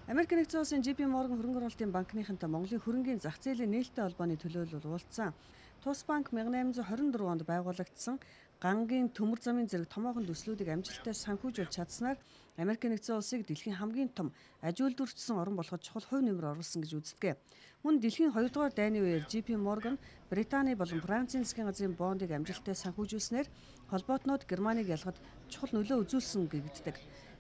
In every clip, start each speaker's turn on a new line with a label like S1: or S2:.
S1: Америк нэгдсэн улсын JP Morgan хөрөнгө оруулалтын банкныхантай Монголын хөрөнгийн зах зээлийн нээлттэй холбооны төлөөлөл уулзсан. Тус банк 1824 онд байгуулагдсан гангийн төмөр замын зэрэг томоохон төслүүдийг амжилттай санхүүжүүлж чадсанаар Америк нэгдсэн улсыг дэлхийн хамгийн том аж үйлдвэрчсэн орн болоход чухал хувь нэмэр оруулсан гэж үздэг. Мөн дэлхийн 2 дугаар дайны үеэр JP Morgan Британий болон Францын засгийн газрын бондыг амжилттай санхүүжүүлснээр холбоотнууд Германыг ялгад чухал нөлөө үзүүлсэн гэгддэг.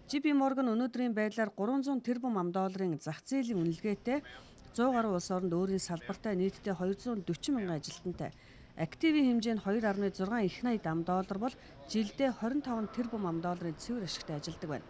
S1: JP Morgan өнөөдрийн байдлаар 300 тэрбум $, зах зээлийн үнэлгээтэй 100 гаруй улс оронд өөрийн салбартай нийтдээ 240 мянган ажилтнтай. Активийн хэмжээ нь 2.6 их $80 бол жилдээ 25 тэрбум $, цэвэр ашигтай ажилладаг байна.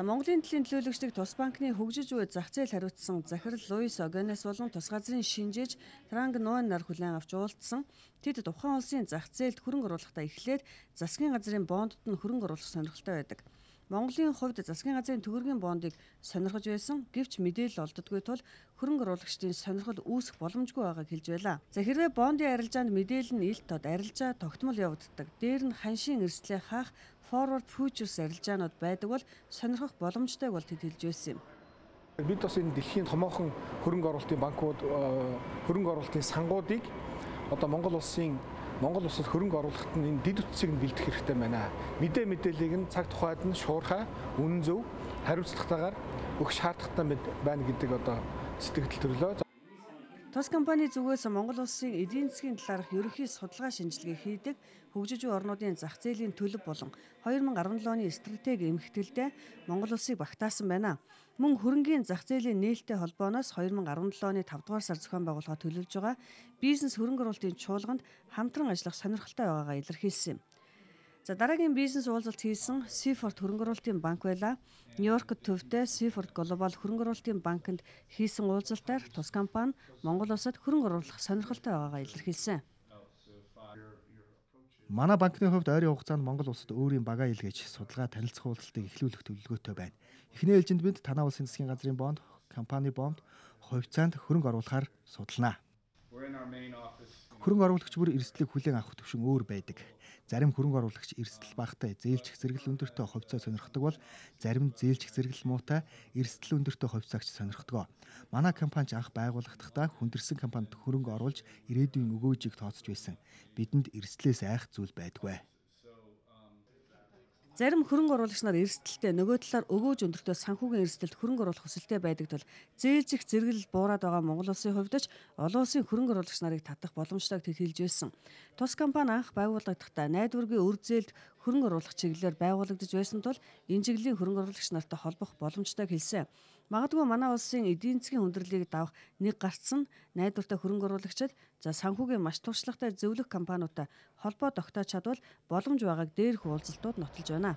S1: Монголын төлөөллийн төлөөлөгчдийг тус банкны хөгжиж буй зах зээл хариуцсан захирал Луис Огенес болон тус газрын шинжээч Транг Нуан нар хүлээн авч уулзсан. Тэд тухайн улсын зах зээлд хөрөнгө оруулахдаа эхлээд засгийн газрын бондод нь хөрөнгө оруулах сонирхолтой байдаг. Монголын хувьд засгийн газрын төгрөгийн бондыг сонирхож байсан гэвч мэдээлэл олддоггүй тул хөрөнгө оруулагчдын сонирхол үүсэх боломжгүй байгааг хэлж байлаа. Хэрвээ бондын арилжаанд мэдээлэл нь илт тод арилжаа тогтмол явагддаг. Дээр нь ханшийн эрсдлээ хаах forward futures арилжаанууд байдаг бол сонирхох боломжтойг бол тэд хэлж байсан юм.
S2: Бид бас энэ дэлхийн томоохон хөрөнгө оруулалтын банкуд хөрөнгө оруулалтын сангуудыг одоо Монгол улсад хөрөнгө оруулахад нь энэ дэд үтсийг нь бэлдэх хэрэгтэй байна. Мэдээллийг нь цаг тухайд нь шуурхай, үнэн зөв, хариуцлагатайгаар өгөх шаардлагатай байна гэдэг одоо сэтгэл төрлөө.
S1: Тус компани зүгээс Монгол улсын эдийн засгийн талаарх ерөнхий судалгаа шинжилгээ хийдэг хөгжиж буй орнуудын зах зээлийн төлөв болон 2017 оны стратеги эмхэтгэлдээ Монгол улсыг багтаасан байна. Мөн хөрөнгийн зах зээлийн нээлттэй холбооноос 2017 оны 5 дугаар сар зохион байгуулалт төлөвлөж байгаа бизнес хөрөнгө оруулалтын чуулганд хамтран ажиллах сонирхолтой байгаагаа илэрхийлсэн юм. Дараагийн бизнес уулзалт хийсэн Seaford хөрөнгө оруулалтын банк байлаа. Нью-Йоркт төвтэй Seaford Global хөрөнгө оруулалтын банкнд хийсэн уулзалтаар тус компани Монгол улсад хөрөнгө оруулах сонирхолтой байгаагаа илэрхийлсэн.
S3: Манай банкны хувьд ойрын хугацаанд Монгол улсад өөрийн багаа илгээж судалгаа танилцах уулзалтыг эхлүүлэх төлөвлөгөөтэй байна. Эхний ээлжинд бид танай улсын засгийн газрын бонд, компани бонд, хувьцаанд хөрөнгө оруулахаар судалнаа. Хөрөнгө оруулагч бүр эрсдлийг хүлээн авах төвшин өөр байдаг. Зарим хөрөнгө оруулагч эрсдэл багатай, зээлчих зэрэгэл өндөртэй хувьцаа сонирхдог бол зарим зээлчих зэрэгэл муутай, эрсдэл өндөртэй хувьцаагч сонирхдог. Манай компани анх байгууллагдахдаа хүндэрсэн компанид хөрөнгө оруулж ирээдүйн өгөөжийг тооцож байсан. Бидэнд эрсдлээс айх зүйл байдаггүй.
S1: Зарим хөрөнгө оруулагч нар эрсдэлтэй нөгөө талаар өгөөж өндөртөө санхүүгийн эрсдэлд хөрөнгө оруулах хүсэлтэй байдаг тул зээлжих зэрэгэл буураад байгаа Монгол улсын хувьд ч олон улсын хөрөнгө оруулагч нарыг татах боломжтойг тэд хэлж байсан. Тус компани анх байгууллагдахдаа найдваргийн үр зээлд хөрөнгө оруулах чиглэлээр байгуулагдаж байсан тул энэ чиглэлийн хөрөнгө оруулагч нартай холбох боломжтойг хэлсэн. Магадгүй манай улсын эдийн засгийн хүндрэлийг давах нэг гарцсан найдвартай хөрөнгө оруулагчид санхүүгийн маш туршлагатай зөвлөх компаниудтай холбоо тогтоож чадвал боломж байгааг дээрх уулзалтууд нотолж байна.